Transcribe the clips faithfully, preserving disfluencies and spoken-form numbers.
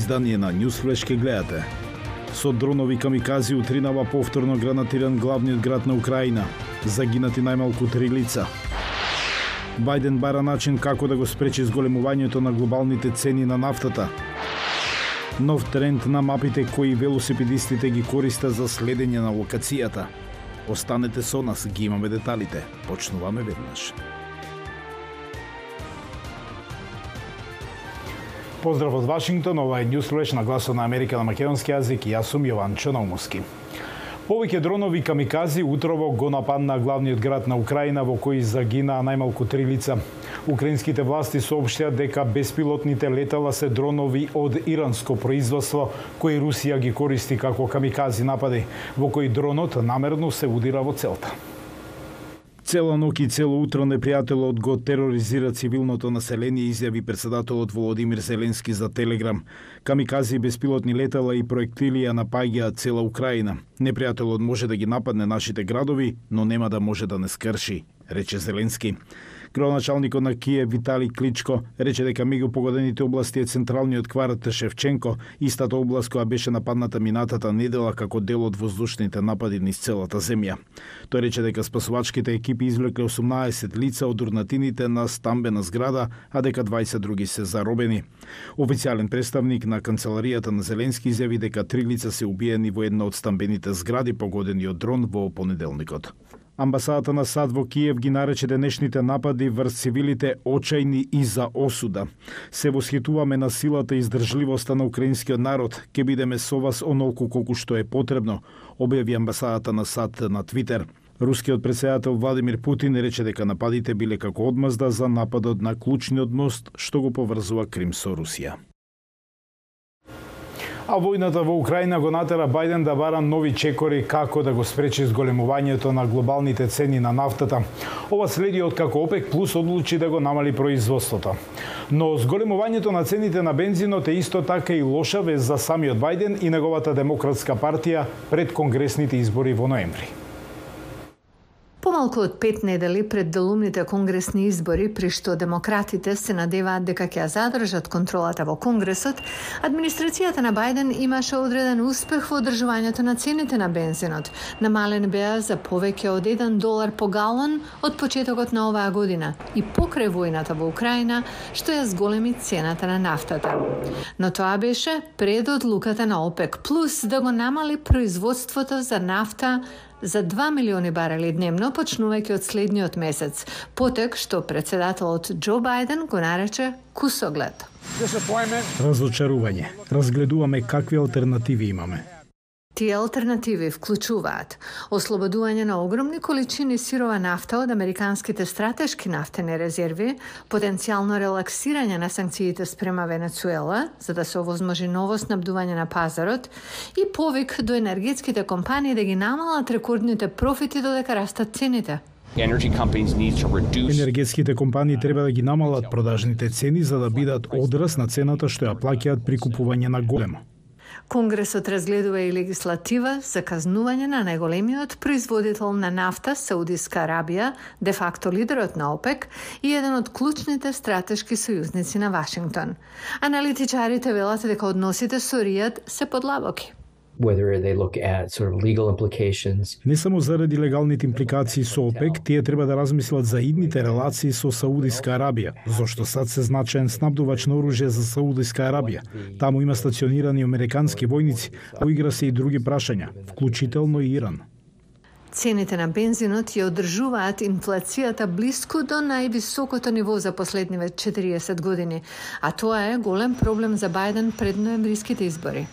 издание на Newsflash ке гледате. Со дронови камикази утринава повторно гранатиран главниот град на Украина. Загинати најмалку три лица. Бајден бара начин како да го спречи зголемувањето на глобалните цени на нафтата. Нов тренд на мапите кои велосипедистите ги користат за следење на локацијата. Останете со нас, ги имаме деталите. Почнуваме веднаш. Поздрав од Вашингтон, ова е Newsflash на Гласот на Америка на македонски јазик и јас сум Јованчо Наумовски. Повеќе дронови камикази утрово го нападна главниот град на Украина во кој загинаа најмалку три лица. Украинските власти соопштија дека беспилотните летала се дронови од иранско производство кои Русија ги користи како камикази напади, во кои дронот намерно се удира во целта. Цела ноќ и цело утро непријателот го тероризира цивилното население, изјави председателот Володимир Зеленски за Телеграм. Камикази, беспилотни летала и проектили ја напаѓаат цела Украина. Непријателот може да ги нападне нашите градови, но нема да може да не скрши, рече Зеленски. Градоначалникот на Киев Витали Кличко рече дека меѓу погодените области е централниот кварт Шевченко, истата област која беше нападната минатата недела како дел од воздушните напади низ целата земја. Тој рече дека спасувачките екипи извлекле осумнаесет лица од урнатините на стамбена зграда, а дека дваесет други се заробени. Официјален представник на канцеларијата на Зеленски изјави дека три лица се убиени во една од стамбените згради погодени од дрон во понеделникот. Амбасадата на САД во Киев ги нарече денешните напади врз цивилите очајни и за осуда. Се восхитуваме на силата и издржливоста на украинскиот народ. Ке бидеме со вас онолку колку што е потребно, објави амбасадата на САД на Твитер. Рускиот претседател Владимир Путин рече дека нападите биле како одмазда за нападот на клучниот мост што го поврзува Крим со Русија. А војната во Украина го натера Бајден да бара нови чекори како да го спречи зголемувањето на глобалните цени на нафтата. Ова следи од како ОПЕК плюс одлучи да го намали производството. Но зголемувањето на цените на бензинот е исто така и лоша вест за самиот Бајден и неговата демократска партија пред конгресните избори во ноември. Помалку од пет недели пред делумните конгресни избори, при што демократите се надеваат дека ќе задржат контролата во Конгресот, администрацијата на Бајден имаше одреден успех во одржувањето на цените на бензинот. Намален беа за повеќе од еден долар по галон од почетокот на оваа година и покрај војната во Украина, што ја зголеми цената на нафтата. Но тоа беше пред одлуката на ОПЕК плюс да го намали производството за нафта за два милиони барели дневно, почнувајќи од следниот месец, потек што председателот Џо Бајден го нарече кусоглед. Разочарување. Разгледуваме какви алтернативи имаме. Тие алтернативи вклучуваат ослободување на огромни количини сирова нафта од американските стратешки нафтени резерви, потенцијално релаксирање на санкциите спрема Венецуела, за да се овозможи ново снабдување на пазарот и повик до енергетските компании да ги намалат рекордните профити додека растат цените. Енергетските компании треба да ги намалат продажните цени за да бидат одраз на цената што ја плаќаат при купување на големо. Конгресот разгледува и легислатива за казнување на најголемиот производител на нафта, Саудиска Арабија, де факто лидерот на ОПЕК и еден од клучните стратешки сојузници на Вашингтон. Аналитичарите велат дека односите со Ријад се подлабоки. Whether they look at sort of legal implications. Не само заради легалните импликации со ОПЕК, тие треба да размислат за идните релации со Саудиска Арабија, зашто САД се значаен снабдувач на оружје за Саудиска Арабија. Таму има стационирани американски војници, а игра се и други прашања, вклучително и Иран. Цените на бензинот ја одржуваат инфлацијата блиску до највисокото ниво за последниве четириесет години, а тоа е голем проблем за Бајден пред ноемвриските избори.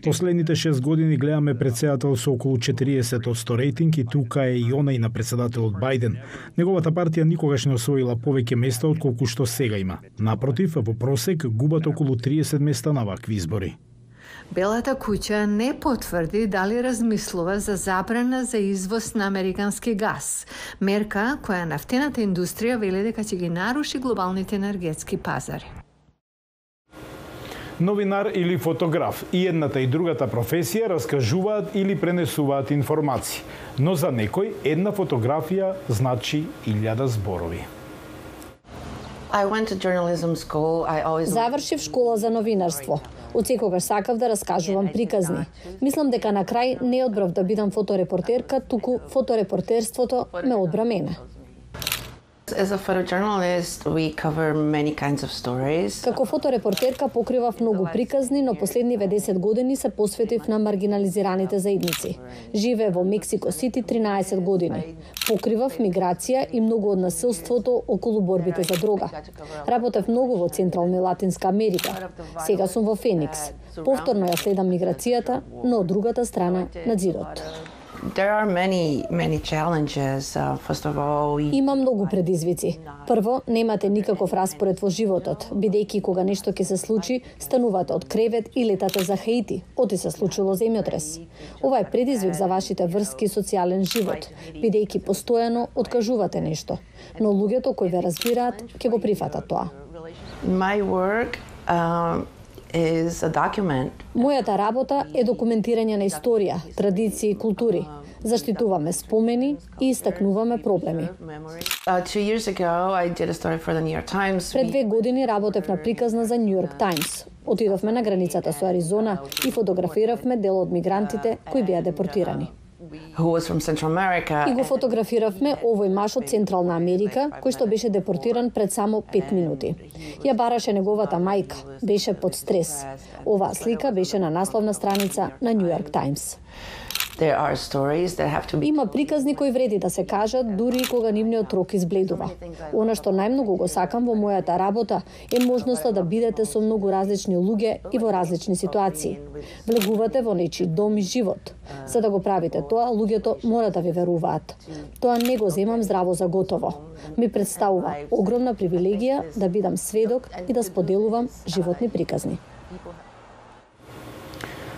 Последните шест години гледаме председател со околу четириесет одсто рейтинг и тука е и онај на председателот Бајден. Неговата партија никогаш не освоила повеќе места од колку што сега има. Напротив, во просек губат околу триесет места на вакви избори. Белата куќа не потврди дали размислува за забрана за извоз на американски газ, мерка која нафтената индустрија вели дека ќе ги наруши глобалните енергетски пазари. Новинар или фотограф, и едната и другата професија раскажуваат или пренесуваат информации, но за некој една фотографија значи илјада зборови. I went to journalism school. I always Завршив школа за новинарство. Од секогаш сакав да раскажувам приказни. Мислам дека на крај не одбрав да бидам фоторепортерка, туку фоторепортерството ме одбра мене. As a photojournalist, we cover many kinds of stories. Како фоторепортерка покривав многу приказни, но последниве десет години се посветив на маргинализираните заедници. Живеев во Мексико Сити тринаесет години. Покривав миграција и многу од насилството околу борбите за дрога. Работев многу во Централна и Латинска Америка. Сега сум во Феникс. Повторно ја следам миграцијата, но од другата страна на ѕидот. There are many, many challenges. Uh, first of all, we... Има многу предизвици. Прво, немате никаков распоред во животот, бидејќи кога нешто ќе се случи, станувате од кревет и летате за Хаити, оти се случило земјотрес. Ова е предизвик за вашите врски и социјален живот, бидејќи постојано откажувате нешто, но луѓето кои ве разбираат ќе го прифатат тоа. My work um, is a document. Мојата работа е документирање на историја, традиции и култури. Заштитуваме спомени и истакнуваме проблеми. Uh, two years ago, I did a story for the New York Times. Пред две години работев на приказна за New York Times. Отидовме на границата со Аризона и фотографиравме дел од мигрантите кои беа депортирани. Who was from Central America. И го фотографиравме овој маж од Централна Америка, кој што беше депортиран пред само пет минути. Ја бараше неговата мајка, беше под стрес. Оваа слика беше на насловна страница на New York Times. There are stories that have to be... Има приказни кои вреди да се кажат, дури и кога нивниот рок избледува. Она што најмногу го сакам во мојата работа е можноста да бидете со многу различни луѓе и во различни ситуации. Влегувате во нечи дом и живот. За да го правите тоа, луѓето мора да ви веруваат. Тоа не го земам здраво за готово. Ми представува огромна привилегија да бидам сведок и да споделувам животни приказни.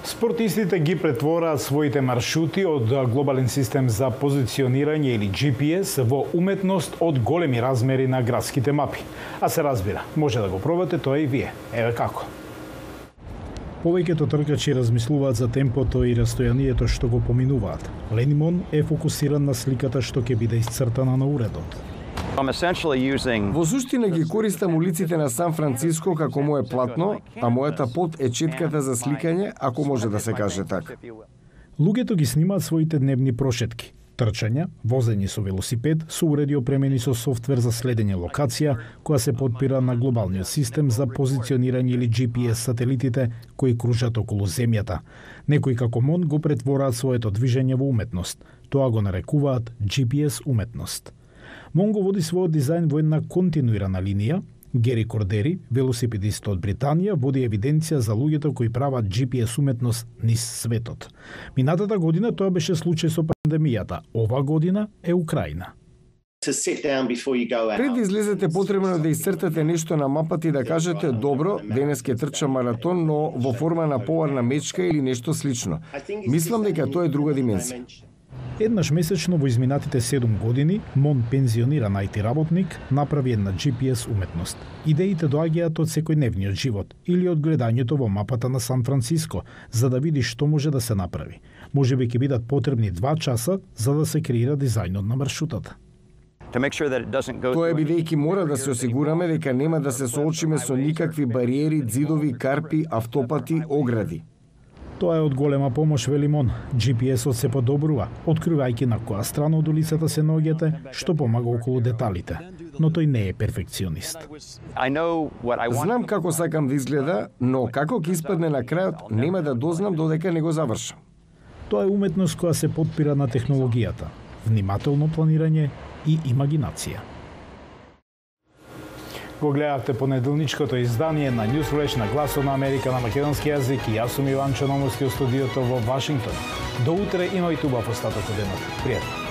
Спортистите ги претвораат своите маршрути од глобален систем за позиционирање или Джи Пи Ес во уметност од големи размери на градските мапи. А се разбира, може да го пробате тоа и вие. Еве како. Повеќето тркачи размислуваат за темпото и растојанието што го поминуваат. Ленимон е фокусиран на сликата што ќе биде исцртана на уредот. Во суштина ги користам улиците на Сан Франциско како мое платно, а мојата пот е четката за сликање, ако може да се каже така. Луѓето ги снимаат своите дневни прошетки. Трчања, возење со велосипед, со уреди опремени со софтвер за следење локација, која се подпира на глобалниот систем за позиционирање или Джи Пи Ес сателитите кои кружат околу земјата. Некои како Мон го претвораат своето движење во уметност. Тоа го нарекуваат Джи Пи Ес уметност. Мон го води својот дизајн во една континуирана линија. Гери Кордери, велосипедист од Британија, води евиденција за луѓето кои прават Джи Пи Ес уметност низ светот. Минатата година тоа беше случај со пандемијата, ова година е Украина. Пред да излезете потребно да исцртате нешто на мапата и да кажете добро, денес ќе трчам маратон, но во форма на поварна мечка или нешто слично. Мислам дека тоа е друга димензија. Еднаш месечно во изминатите седум години, Мон, пензиониран ај Ти работник, направи една Джи Пи Ес уметност. Идеите доаѓаат од секојдневниот живот или од гледањето во мапата на Сан Франциско, за да види што може да се направи. Можеби ќе бидат потребни два часа за да се креира дизајнот на маршрутата. Тоа е бидејќи мора да се осигураме дека нема да се соочиме со никакви бариери, ѕидови, карпи, автопати, огради. Тоа е од голема помош, вели Мон. Джи Пи Ес-от се подобрува, откривајќи на која страна од улицата се наоѓате, што помага околу деталите. Но тој не е перфекционист. Знам како сакам да изгледа, но како ќе испадне на крајот, нема да дознам додека не го завршам. Тоа е уметност која се подпира на технологијата, внимателно планирање и имагинација. Го гледавте понеделничкото издание на Newsflash на Гласот на Америка на македонски јазик и јас сум Иван Чономовски од студиото во Вашингтон. До утре, имајте убав остаток од денот. Пријатно.